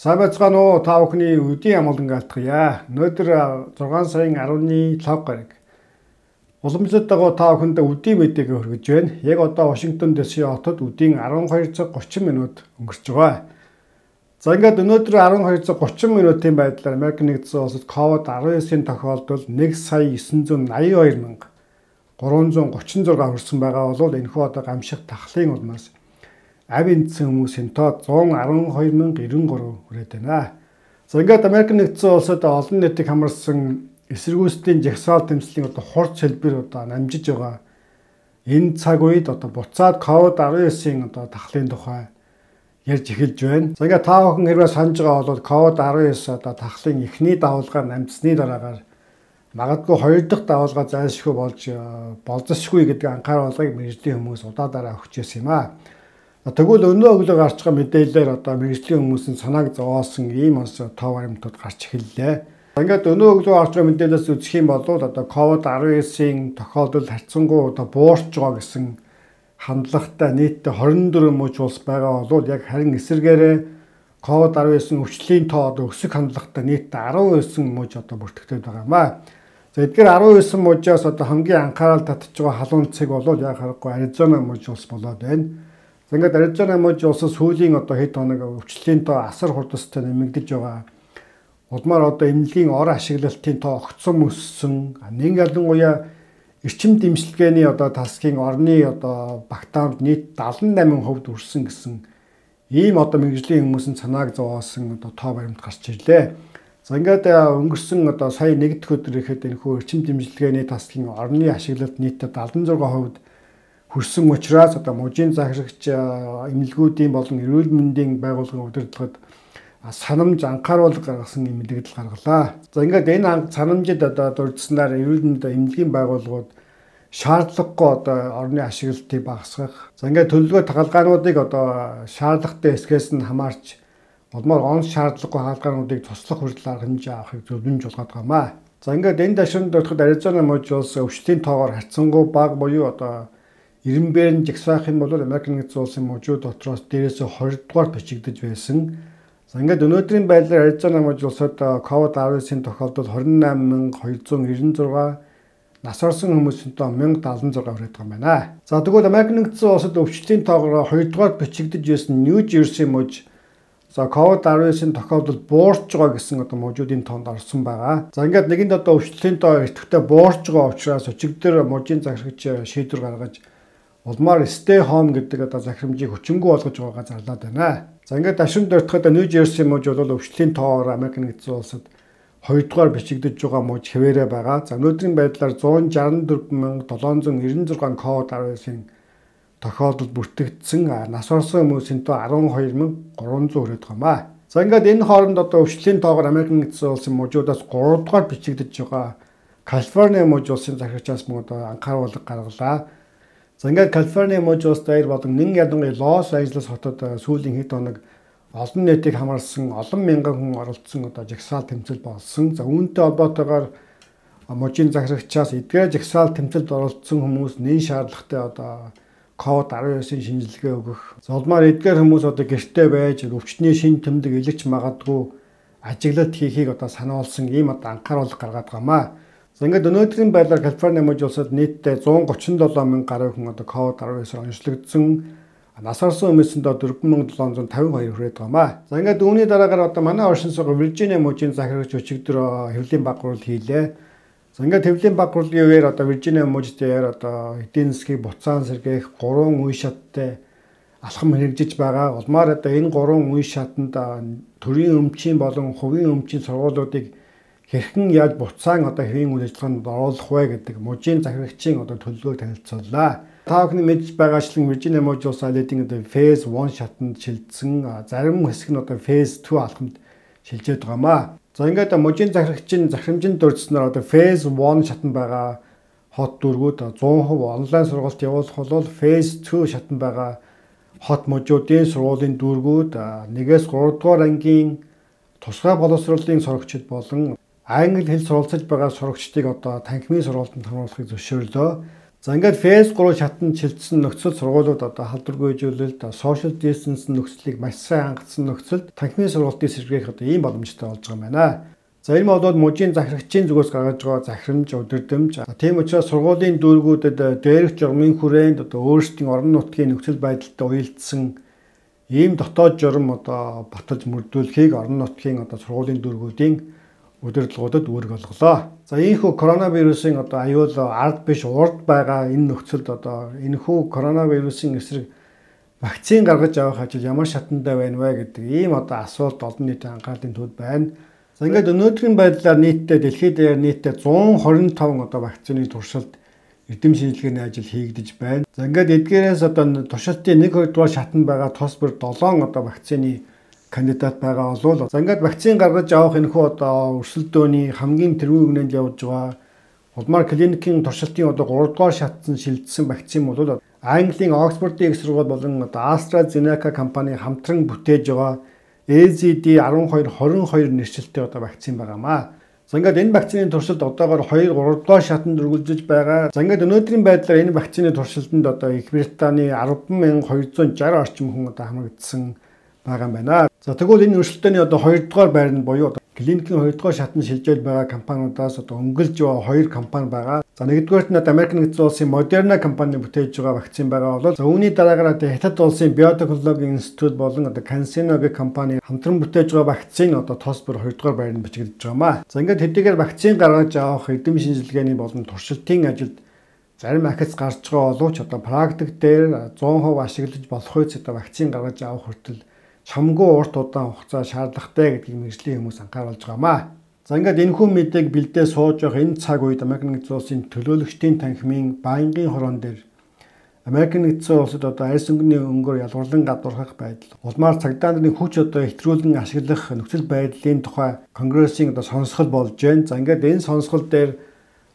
Сайн байцгаана уу та бүхний өдийн амгалан гаалтгая. Өнөөдөр 6 сарын 15 гараг уламжлалт дагуу та бүхэнд өдийн мэдээг хүргэж байна. Яг одоо Вашингтон ДС хотод өдийн 12 цаг 30 минут өнгөрч байгаа. За ингээд өнөөдөр 12 цаг 30 минутын байдлаар Америк нэгдсэн улсад COVID-19-ийн тохиолдол 1,982,336 хүрсэн байгаа бол энэхүү одоо гамших тахлын улмаас авь эндсэн хүмүүсийн тоо 112,093 хүрээд байна. За ингээд Америк нэгдсэн улсад олон нийтийг хамарсан эсэргүүцлийн жагсаал тэмцлийн одоо хурц хэлбэр одоо намжиж байгаа. Энэ цаг үед одоо буцаад COVID-19-ийн одоо тахлын тухай ярьж эхэлж байна. За ингээд та бүхэн хэрвээ санаж байгаа бол COVID-19 одоо тахлын эхний давалгаар намжсны дараагаар магадгүй хоёр дахь давалгаа зайлшгүй болж болзошгүй гэдэг анхааруулгыг мэргэжлийн хүмүүс удаадараа өгч ирсэн юм аа. Тэгвэл өнөө өглөө гарч байгаа мэдээлэлээр одоо мэргэжлийн хүмүүсийн санааг зовоосон ийм бас тоо баримтууд гарч эхэллээ. Ингээд өнөө өглөө гарч байгаа мэдээлэлээс үзэх юм бол одоо COVID-19-ийн тохиолдол харьцангуй одоо буурч байгаа гэсэн хандлагатай нийтдээ 24 мужи улс байгаа бол яг харин эсэргээрээ COVID-19 өвчлөлийн тоо одоо өсөх хандлагатай нийтдээ 19 мужи одоо бүртгэгдээд байгаа юм аа. За эдгээр 19 мужиас одоо хамгийн анхаарал татж байгаа халуун цэг бол яг харахгүй Аризона мужи улс болоод байна. За ингээд Аризона мужи улс сүүлийн одоо хэд хоног өвчлөлийн тоо асар хурдастай нэмэгдэж байгаа. Улмаар одоо эмнэлгийн ор ашиглалтын тоо огцом өссөн. Нэг ялангуяа эрчим дэмжлэгээний одоо тасгийн орны одоо багтаамд нийт 78% үрсэн гэсэн ийм одоо мэргэжлийн хүмүүсийн санааг зовоосон одоо тоо баримт гарч ирлээ. За ингээд өнгөрсөн одоо сая нэг дэх өдөр ихэд энэхүү эрчим дэмжлэгээний тасгийн орны ашиглалт нийтдээ 76% хүрсэн учраас одоо мужийн захирагч эмнэлгүүдийн болон эрүүл мэндийн байгууллагын удирдлагад санамж анхааруулга гаргасан юм мэдээлэл гаргалаа. За ингээд энэ санамжид одоо дурдсанаар эрүүл мэнд эмнэлгийн байгууллагууд шаардлагагүй одоо орны ашиглалтыг багасгах. За ингээд төлөвлөгөө тагалгаануудыг одоо шаардлагатай эсгээс нь хамаарч улмаар онц шаардлагагүй хаалгаануудыг туслах хүртэл арга хэмжээ авахыг зөвлөмж болгоод байгаамаа. За ингээд энэ дашинд дуртахад Аризона мужи улс өвчтөлийн тоогоор харьцангуй бага буюу одоо 90-ээр жагсаах юм бол Америк нэгдсэн улсын мужууд дотроос дээрээсээ 20 дугаар бичигдэж байсан. За ингээд өнөөдрийн байдлаар Аризона мужи улсад COVID-19-ийн тохиолдол 28,296, нас орсон хүмүүсийн тоо 1,076 хүрээд байгаа юм байна. За тэгвэл Америк нэгдсэн улсад өвчтөлийн тоогоор 2 дугаар бичигдэж байсан Нью Жерси мужи за COVID-19-ийн тохиолдол буурч байгаа гэсэн одоо мужуудын тоонд орсон байгаа. За ингээд нэгэнд одоо өвчтөлийн тоо эртвэхтэй буурч байгаа учраас өчигдөр мужийн захирагч шийдвэр гаргаж улмаар stay home гэдэг одоо захирамжийг хүчингүй болгож байгаагаа зарлаад байна. За ингээд дашин дөртөхөд Нью Жерси мужи бол өвчтөлийн тоогоор Америк нэгдсэн улсад 2 дугаар бичигдэж байгаа мужи хэвээрээ байгаа. За өнөөдрийн байдлаар 164,796 COVID-19-ийн тохиолдол бүртгэгдсэн. Нас орсон хүмүүсийн тоо 12,300 хүрээд байгаа юм. За ингээд энэ хооронд одоо өвчтөлийн тоогоор Америк нэгдсэн улсын мужуудаас 3 дугаар бичигдэж байгаа Калифорни мужи улсын захирагчаас мөн одоо анхааруулга гаргалаа. За ингээд Калифорни мужи улс даяар болон нэн ялангуяа Лос Анжелес хотод сүүлийн хэд хоног олон нийтийг хамарсан олон мянган хүн оролцсон одоо жагсаал тэмцэл болсон. За үүнтэй холбоотойгоор мужийн захирагчаас эдгээр жагсаал тэмцэлд оролцсон хүмүүс нэн шаардлагатай одоо COVID-19-ийн шинжилгээ өгөх. Улмаар эдгээр хүмүүс одоо гэртээ байж өвчтний шин тэмдэг илэгч магадгүй ажиглалт хийхийг одоо сануулсан ийм одоо анхааруулга гаргаад байгаамаа. За ингээд өнөөдрийн байдлаар Калифорни мужи улсад нийтдээ 137,000 гаруй хүн одоо COVID-19-оор онцлогдсон. Нас орсон хүмүүсийн доо 4,752 хүрээд байгаамаа. За ингээд үүний дараагаар одоо манай оршин суугч Виржиниа мужийн захирагч өчигдөр хэвлэлийн багварал хийлээ. За ингээд хэвлэлийн багварлын үеэр одоо Виржиниа мужид дээр одоо эдийн засгийг буцаан сэргээх 3 үе шаттай алхам хэрэгжиж байгаа. Улмаар одоо энэ 3 үе шатанд төрийн өмчийн болон хувийн өмчийн сургуулиудыг хэрхэн яаж буцаан одоо хэвийн үйл ажиллагаанд оруулах вэ гэдэг мужийн захирагчийн одоо төлөвлөгөөг танилцууллаа. Та бүхний мэдж байгаачлан Виржиниа мужи улс айлын одоо Phase 1 шатанд шилжсэн, зарим хэсэг нь одоо Phase 2 алхамд шилжээд байгаамаа. За ингээд мужийн захирагчийн захирамжинд дурдсанаар одоо Phase 1 шатанд байгаа хот дүүргүүд 100% онлайн сургалт явуулах бол Phase 2 шатанд байгаа хот мужуудын сургуулийн дүүргүүд 1-3 дугаар ангийн тусгай боловсролын сурагчид болон англи хэл суралцж байгаа сурагчдыг одоо танхимын сургалтанд хамруулахыг зөвшөөрлөө. За ингээд фейс 3 шатанд шилжсэн нөхцөл сургуулиуд одоо халдваргүй хөгжүүлэлт, social distance нөхцөлийг маш сайн хангацсан нөхцөлд танхимын сургалтыг сэргээх одоо ийм боломжтой болж байгаа юм байна. За энэ бол мужийн захирагчийн зүгээс гаргаж байгаа захирамж, удирдамж. Тийм учраас сургуулийн дүүргүүдэд дээрх журмын хүрээнд одоо өөрсдийн орон нутгийн нөхцөл байдалтай уялдсан ийм дотоод журам одоо баталж мөрдүүлэхийг орон нутгийн одоо сургуулийн дүүргүүдийн удирдлагуудад үүрэг олголоо. За ийхүү коронавирусын одоо аюул ард биш урд байгаа энэ нөхцөлд одоо энэхүү коронавирусын эсрэг вакцин гаргаж авах ажил ямар шатантай байна вэ гэдэг ийм одоо асуулт олон нийтийн анхаарлын төвд байна. За ингээд өнөөдрийн байдлаар нийтдээ дэлхийд дээр нийтдээ 125 одоо вакцины туршилт эрдэм шинжилгээний ажил хийгдэж байна. За ингээд эдгээрээс одоо туршилтын 1-2 дугаар шатанд байгаа тус бүр 7 одоо вакцины кандидат байгаа болов. За ингээд вакцин гаргаж авах энэхүү одоо өрсөлдөөний хамгийн тэргүүн үгнэнд явж байгаа улмаар клиникийн туршилтын одоо 3 дугаар шатсан шилжсэн вакцин бол Английн Оксфордын их сургууль болон одоо AstraZeneca компани хамтран бүтээж байгаа AZD1222 нэршилтэй одоо вакцин байгаамаа. За ингээд энэ вакцины туршилт одоогоор 2-3 дугаар шатанд үргэлжлэж байгаа. За ингээд өнөөдрийн байдлаар энэ вакцины туршилтанд одоо Их Британий 10,260 орчим хүн одоо хамрагдсан байгаа юм байна. За тэгвэл энэ өрсөлдөөний одоо 2 дугаар байранд буюу клиникийн 2 дугаар шатанд шилжээд байгаа компаниудаас одоо өнгөлж байгаа 2 компани байгаа. За нэгдүгээрт нь Америк нэгдсэн улсын Moderna компани бүтээж байгаа вакцин байгаа бол за үүний дараагаар Хятад улсын Biotechnology Institute болон одоо CanSino гэх компани хамтран бүтээж байгаа вакцин одоо тос бүр 2 дугаар байранд бичигдэж байгаамаа. За ингээд хэдийгээр вакцин гаргаж авах эрдэм шинжилгээний болон туршилтын ажилд зарим ахиц гарч байгаа боловч одоо практик дээр 100% ашиглаж болох үс одоо вакцин гаргаж авах хүртэл чамгүй урт удаан хугацаа шаардлагатай гэдгийг мэргэжлийн хүмүүс анхааруулж байгаамаа. За ингээд энэхүү мэдээг бэлдээ сууж явах энэ цаг үед Америк нэгдсэн улсын төлөөлөгчдийн танхимын байнгын хорон дээр Америк нэгдсэн улсад одоо арьс өнгөний өнгөөр ялгарлан гадуурхах байдал, улмаар цагдаа нарын хүч одоо ихтрүүлэн ашиглах нөхцөл байдлын тухай Конгрессийн одоо сонсгол болж байна. За ингээд энэ сонсгол дээр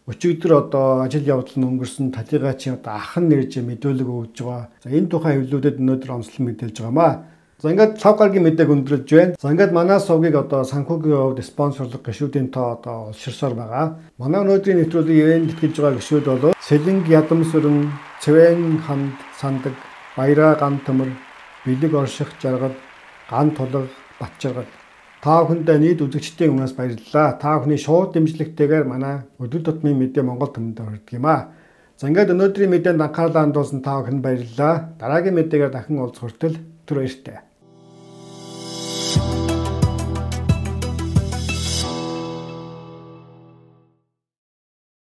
өчигдөр одоо ажил явдал нь өнгөрсөн талигачийн одоо ахын нэрж мэдүүлэг өгж байгаа. За энэ тухай хэвлүүдэд өнөөдөр онцлог мэдээлж байгаамаа. За ингээд 5 гаругийн мэдээг өндөрлж байна. За ингээд манай сувгийг одоо санхүүгийн хувьд спонсорлог гишүүдийн тоо одоо олширсоор байгаа. Манай өнөөдрийн нэвтрүүлгийн ивент тэтгэж байгаа гишүүд бол Сэлэнг Ядамсүрэн, Цэвэн Ханд Сандаг, Баяраа Ган Төмөр, Бэлэг Орших Жаргал, Ган Тулга, Батчаргал. Та бүхэндээ нийт үзэгчдийн өмнөөс баярлалаа. Та бүхний шууд дэмжлэгтэйгээр манай өдөр тутмын мэдээ Монгол төмөнд хүрдэг юм аа. За ингээд өнөөдрийн мэдээнд анхаарлаа хандуулсан та бүхэнд баярлалаа. Дараагийн мэдээгээр дахин уулзах хүртэл түр баяртай.